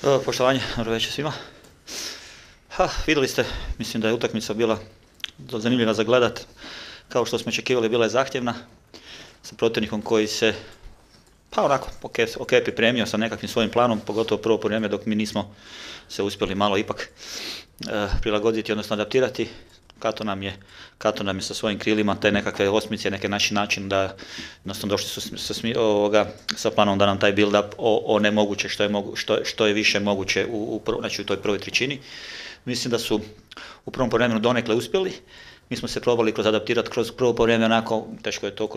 Poštovanje, dobro večer svima. Vidjeli ste, mislim da je utakmica bila zanimljiva za gledat. Kao što smo očekivali, bila je zahtjevna, sa protivnikom koji se, pa onako, ok pripremio sa nekakvim svojim planom, pogotovo prvo vrijeme dok mi nismo se uspjeli malo ipak prilagoditi, odnosno adaptirati. Kato nam je sa svojim krilima te nekakve osmice, neki naši način da jednostavno došli su sa planom da nam taj build-up onemoguće što je više moguće u toj prvoj trećini. Mislim da su u prvom vremenu donekle uspjeli. Mi smo se probali adaptirati kroz prvo vrijeme, onako teško je to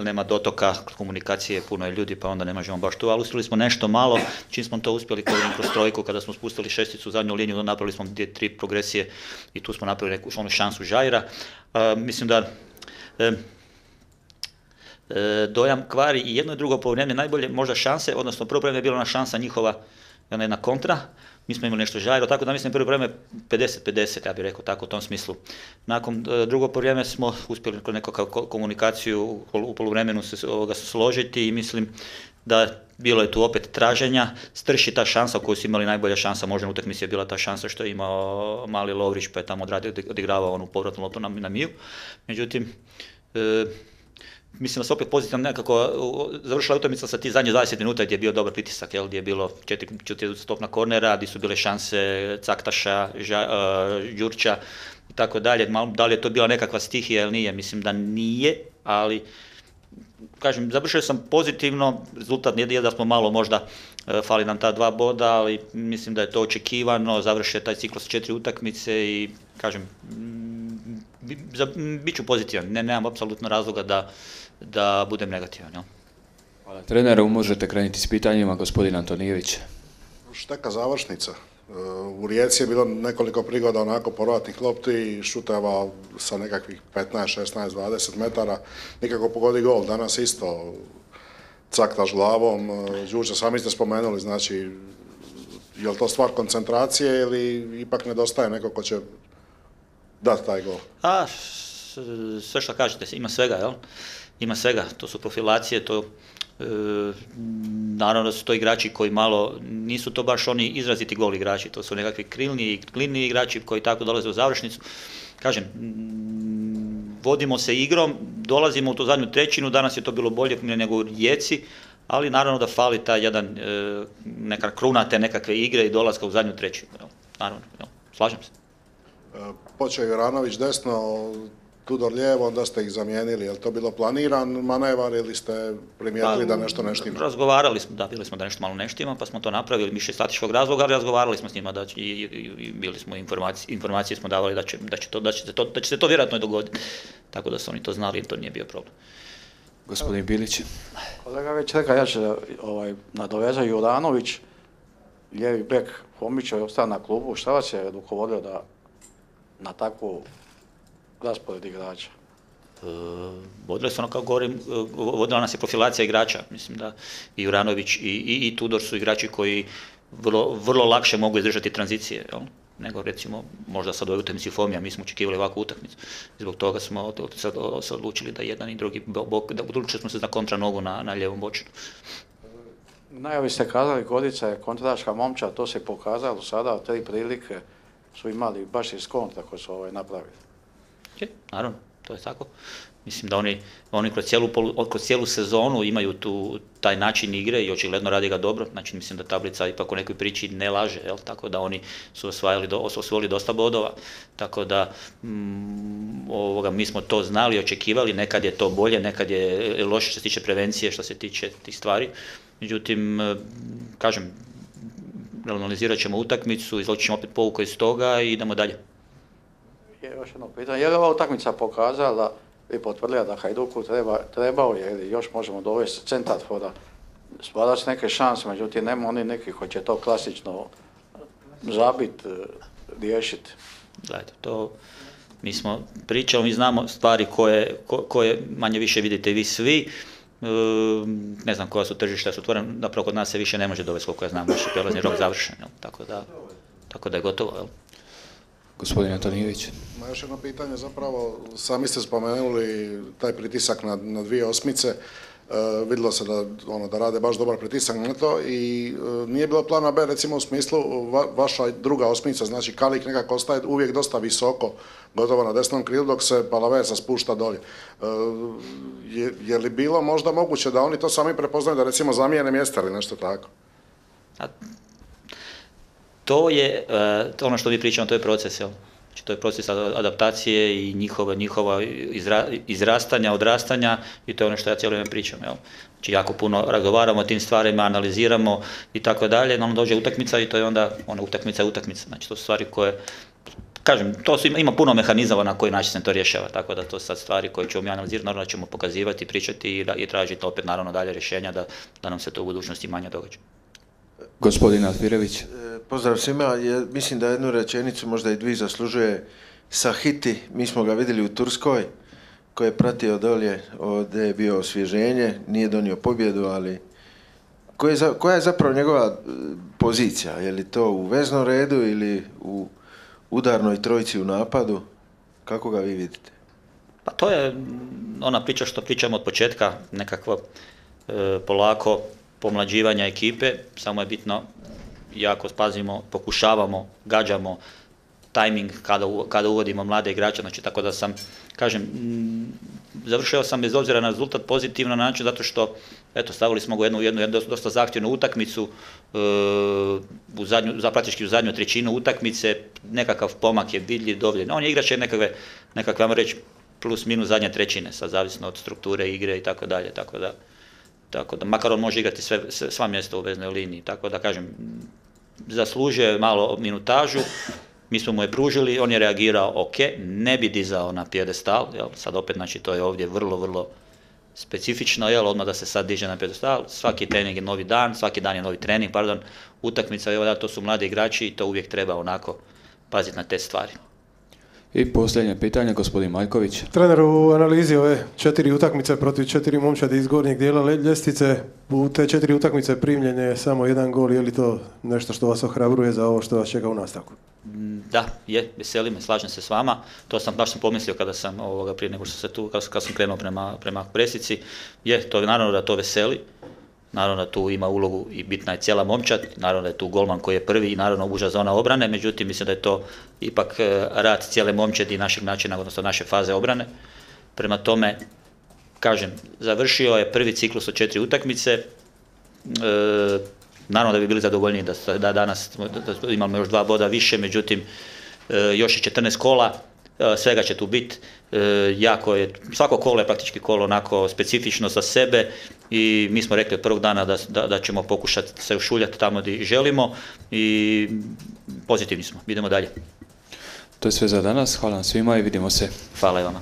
nema dotoka, komunikacije, puno je ljudi pa onda ne možemo baš tu, ali uspjeli smo nešto malo, čim smo to uspjeli kroz trojku, kada smo spustili šesticu u zadnju liniju, napravili smo 2-3 progresije i tu smo napravili neku šansu Žaira. Mislim da dojam kvari i jedno i drugo poluvreme najbolje možda šanse, odnosno prvo vrijeme je bila ona šansa njihova, jedna kontra. Mi smo imali nešto Žairo, tako da mislim prvo vrijeme 50-50, ja bih rekao tako u tom smislu. Nakon drugo vrijeme smo uspjeli kroz nekakvu komunikaciju u poluvremenu se složiti i mislim da bilo je tu opet traženja, strši ta šansa koju su imali, najbolja šansa možda u utakmici je bila ta šansa što je imao mali Lovrić pa je tamo odigravao onu povratnu loptu na Miju. Međutim, mislim da se opet pozitivno nekako završila utakmica sa ti zadnje 20 minuta gdje je bio dobar pritisak, gdje je bilo 4 stopna kornera, gdje su bile šanse Caktaša, Đurća i tako dalje. Da li je to bila nekakva stihija ili nije, mislim da nije, ali kažem, završio sam pozitivno, rezultat nije da smo malo možda fali nam ta 2 boda, ali mislim da je to očekivano, završio taj ciklus 4 utakmice i kažem, bit ću pozitivan, nemam apsolutno razloga da budem negativan. Jel? Hvala treneru, možete krenuti s pitanjima, gospodin Antonijević. Šteka završnica. U Rijeci je bilo nekoliko prigoda onako povratnih lopti i šuteva sa nekakvih 15, 16, 20 metara. Nikako pogodi gol. Danas isto Caktaš glavom, Đurđa sami ste spomenuli, znači je li to stvar koncentracije ili ipak nedostaje neko ko će dati taj gol? Sve što kažete, ima svega, jel? Ima svega, to su profilacije, naravno da su to igrači koji malo, nisu to baš oni izraziti gol igrači, to su nekakvi krilni igrači koji tako dolaze u završnicu. Kažem, vodimo se igrom, dolazimo u tu zadnju trećinu, danas je to bilo bolje nego u Rijeci, ali naravno da fali ta jedan, neka kruna te nekakve igre i dolaska u zadnju trećinu, jel? Naravno, jel? Slažem se. Počeo je Juranović desno, Tudor lijevo, onda ste ih zamijenili. Je li to bilo planiran manevar ili ste primijetili da nešto ne štima? Razgovarali smo, bili smo da nešto malo ne štima, pa smo to napravili, više statičkog razloga, ali razgovarali smo s njima i bili smo informacije smo davali da će se to vjerojatno i dogoditi. Tako da su oni to znali i to nije bio problem. Gospodin Bilić. Kolega već rekao, ja ću nadovezao Juranović, lijevi bek Homićev je ostao na klubu. Šta vas je rukovodio da na takvu raspored igrača? Vodili su ono kao govorim, vodila nas je profilacija igrača. Mislim da i Juranović i Tudor su igrači koji vrlo lakše mogu izdržati tranzicije, jel? Nego recimo možda sad u ovoj utakmici Fomija, mi smo očekivali ovakvu utakmicu. Zbog toga smo se odlučili da jedan i drugi bok, da odlučili smo se za kontra nogu na lijevom bočinu. Najavi ste kazali, Gorica je kontraška momčad, to se pokazalo sada, 3 prilike su imali baš iz kontra koji su napravili. Naravno, to je tako. Mislim da oni kroz cijelu sezonu imaju taj način igre i očigledno radi ga dobro. Znači mislim da tablica ipak u nekoj priči ne laže, jel? Tako da oni su osvojili dosta bodova. Tako da mi smo to znali, očekivali, nekad je to bolje, nekad je loše što se tiče prevencije, što se tiče tih stvari. Međutim, kažem, analizirat ćemo utakmicu, izvući ćemo opet pouku iz toga i idemo dalje. Još jedno pitanje, je li ova utakmica pokazala i potvrdila da Hajduku trebao je ili još možemo dovesti centarfora, stvarati neke šanse, međutim nema oni neki koji će to klasično zabiti, riješiti? Gledajte, to mi smo pričali, mi znamo stvari koje manje više vidite vi svi. Ne znam koja su tržišta su otvorena, napravo kod nas se više ne može dovesti koliko ja znam, naš je prelazni rok završen, tako da je gotovo. Jel? Gospodin Antonijević. Još jedno pitanje zapravo, sami ste spomenuli taj pritisak na 2 osmice. vidjelo se da rade baš dobar pritisak na to i nije bilo plana B, recimo u smislu vaša druga osmica, znači Kalik nekako ostaje uvijek dosta visoko, gotovo na desnom krilu, dok se Palavesa spušta dolje. Je li bilo možda moguće da oni to sami prepoznaju, da recimo zamijene mjesta ili nešto tako? To je, ono što vi pričamo, to je proces, jel? Znači, to je proces adaptacije i njihova izrastanja, odrastanja i to je ono što ja cijelo vrijeme pričam, jel? Znači, jako puno razgovaramo o tim stvarima, analiziramo i tako dalje, no dođe utakmica i to je onda, utakmica je utakmica, znači to su stvari koje, kažem, ima puno mehanizama na koji način se to rješava, tako da to su sad stvari koje ćemo mi analizirati, naravno da ćemo pokazivati, pričati i tražiti opet naravno dalje rješenja da nam se to u budućnosti manje događa. Gospodin Alfirević. Pozdrav svima. Mislim da jednu rečenicu, možda i dvije, zaslužuje Sahiti. Mi smo ga vidjeli u Turskoj, koji je pratio dolje, ovdje je bio osvježenje, nije donio pobjedu, ali koja je zapravo njegova pozicija? Je li to u veznom redu ili u udarnoj trojici u napadu? Kako ga vi vidite? Pa to je ona priča što pričamo od početka, nekakvo polako pomlađivanja ekipe, samo je bitno jako pazimo, pokušavamo, gađamo tajming kada uvodimo mlade igrače, znači tako da sam, kažem, završio sam bez obzira na rezultat pozitivno na način zato što, eto, stavili smo ga u jednu dosta zahtjevnu utakmicu, praktički u zadnju trećinu utakmice, nekakav pomak je vidljiv, dovoljen. On je igrač nekakve, ajmo reći, plus minus zadnje trećine, sad zavisno od strukture igre i tako dalje, tako da makar on može igrati sva mjesta u veznoj liniji, tako da kažem, zaslužuje malo minutažu, mi smo mu je pružili, on je reagirao ok, ne bi dizao na pijedestal, jel, sad opet, znači to je ovdje vrlo, vrlo specifično, jel, odmah da se sad diže na pijedestal, svaki trening je novi dan, svaki dan je novi trening, utakmica, evo da, to su mladi igrači i to uvijek treba onako paziti na te stvari. I posljednje pitanje, gospodin Majković. Trener, u analizi ove 4 utakmice protiv 4 momčadi iz gornjeg dijela ljestvice, u te 4 utakmice primljen je samo 1 gol, je li to nešto što vas ohrabruje za ovo što vas čeka u nastavku? Da, veseli me, slažem se s vama, baš sam pomislio kada sam prije nego što se tu, kad sam krenuo prema presici, to naravno da to veseli. Naravno da tu ima ulogu i bitna je cijela momčad, naravno da je tu golman koji je prvi i naravno uža zona obrane, međutim mislim da je to ipak rad cijele momčadi i našeg načina, odnosno naše faze obrane. Prema tome, kažem, završio je prvi ciklus od 4 utakmice, naravno da bi bili zadovoljniji da danas imamo još 2 boda više, međutim još je 14 kola, svega će tu biti, svako kolo je praktički kolo onako specifično za sebe i mi smo rekli od prvog dana da ćemo pokušati se ušuljati tamo gdje želimo i pozitivni smo, idemo dalje. To je sve za danas, hvala vam svima i vidimo se. Hvala i vama.